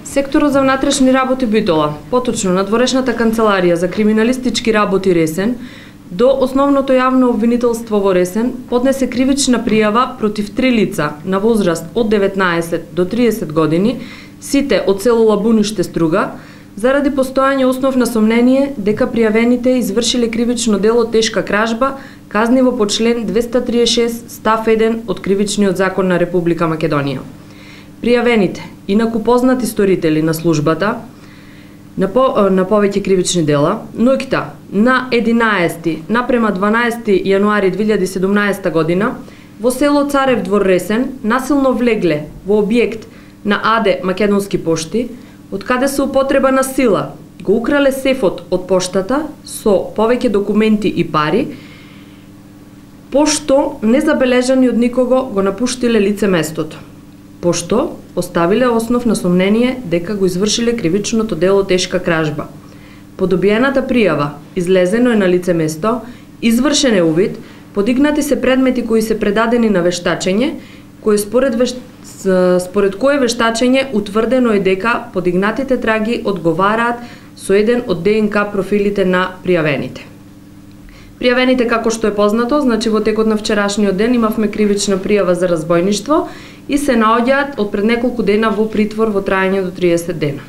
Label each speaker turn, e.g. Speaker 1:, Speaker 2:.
Speaker 1: Секторот за внатрешни работи Битола, поточно надворешната канцеларија за криминалистички работи Ресен, до основното јавно обвинителство во Ресен поднесе кривична пријава против 3 лица на возраст од 19 до 30 години, сите од село Лабуниште, Струга, заради постојање основно сомнение дека пријавените извршиле кривично дело тешка кражба, казниво по член 236 став 1 од Кривичниот закон на Република Македонија. Пријавените, инаку познати сторители на службата на повеќе кривични дела, ноќта на 11 напрема 12 јануари 2017 година во село Царев двор Ресен насилно влегле во објект на АД Македонски пошти, од каде со употреба на сила го украле сефот од поштата со повеќе документи и пари, пошто незабележани од никого го напуштиле лице местото, пошто оставиле основ на сомнение дека го извршиле кривичното дело тешка кражба. По добиената пријава излезено е на лице место, извршен е увид, подигнати се предмети кои се предадени на вештачење, кои според кое вештачење утврдено е дека подигнатите траги одговараат со еден од ДНК профилите на пријавените. Пријавените, како што е познато, значи во текот на вчерашниот ден имавме кривична пријава за разбойништво и се наоѓаат од пред неколку дена во притвор во трајање до 30 дена.